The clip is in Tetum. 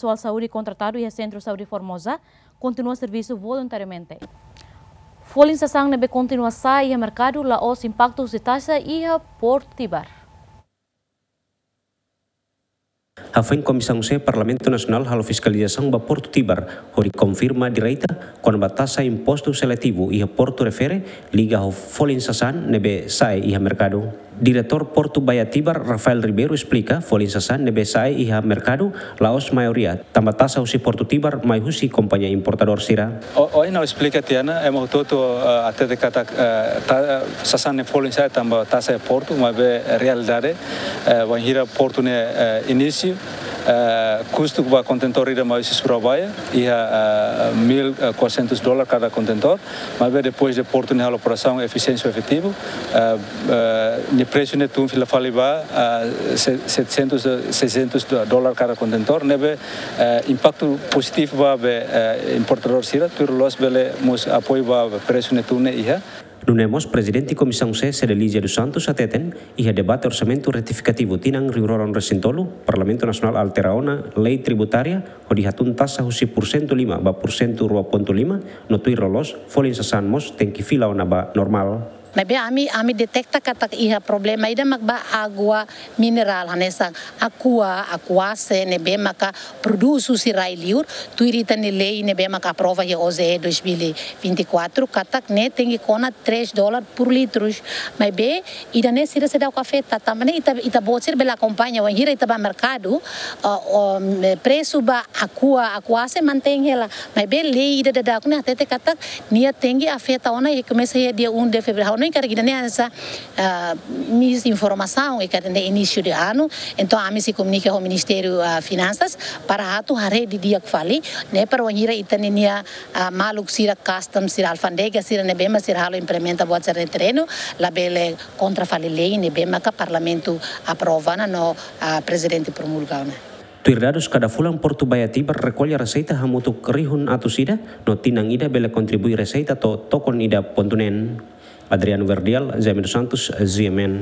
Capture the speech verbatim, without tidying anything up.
pesoál saúde kontratadu iha Sentru Saúde Formosa kontinua servisu voluntariamente. Folin sasán ne'ebé kontinua sa'e iha merkadu la'ós impaktu husi taxa iha Portu Tibar. Hafoin Komisaun C Parlamentu Nasionál halo fiskalizasaun ba Portu Tibar, hodi konfirma direta kona-ba taxa impostu seletivu iha portu refere liga ho folin sasán ne'ebé sa'e iha merkadu. Diretór Portu Baía Tibar, Rafael Ribeiro, esplika folin sasán ne'ebé sa'e iha merkadu la'ós maioria, tanba taxa husi Portu Tibar mai husi kompañia importadór sira. O, ohin ha'u esplika tiha ona, ema hotu-hotu, eh, hatete katak, eh, ta-, eh, sasán ne'e folin sa'e tanba taxa iha portu, maibé realidade, eh, wainhira portu ne'e, eh, inísiu, eh, kustu ba kontentór ida mai husi Surabaya, iha, eh, mil e quatrocentos dólar kada kontentór, maibé depois de portu ne'e halo operasaun efisiente efetivu, eh, eh, nia presu ne'e tun fila fali ba, eh, se-, setecentos, eh, seiscentos dólar kada kontentór, ne'ebé, eh, impaktu pozitivu ba be, eh, importadór sira, tuir loloos bele mós apoiu ba presu ne'e tun ne'e iha. Nune'e mós Prezidente Komisaun C, Cedelizia dos Santos, hateten, iha debate orsamentu retifikativu tinan rihun rua ruanulu-resin-tolu, Parlamentu Nasionál altera ona lei tributária, hodi hatún taxa husi porsentu lima ba porsentu rua pontu lima, no tuir loloos, folin sasán mós tenke fila ona ba normál. Maibé ami, ami deteta katak iha problema ida mak ba água minerál hanesan Aqua, Aquase, ne'ebé maka produz husi rai-liur, tuir ita-nia lei ne'ebé maka aprova iha O J E dois mil e vinte e quatro, katak ne'e tenke kona três dólar por litro. Maibé, ida-ne'e sira seidauk afeta, tanba ne'e ita, ita-boot sira bele akompaña, wainhira ita ba merkadu, ah, o, me-, presu ba Aqua, Aquase mantein hela. Maibé lei ida daudauk ne'e hatete katak nia tenke afeta ona i komesa iha dia um de fevereiro. Ha'u hanoin katak ida-ne'e hanesan, ah, misinformasaun i katak ne'e inísiu de ano. Entaun, ami sei komunika ho Ministériu, ah, Finansas para atu haree didi'ak fali, ne'e para wainhira ita-nia, ah, maluk sira, customs sira, alfándega sira ne'ebé mak sira halo implementa buat sira-ne'e iha terrenu, labele kontra fali lei ne'ebé maka Parlamentu aprova ona no, ah, Prezidente promulga ona. Tuir dadus, kada fulan Portu Baía Tibar rekolla reseita hamutuk rihun atus ida, no tinan ida bele kontribui reseita to'o tokon ida pontu neen. Adriano Verdial, Jaime dos Santos, G M N.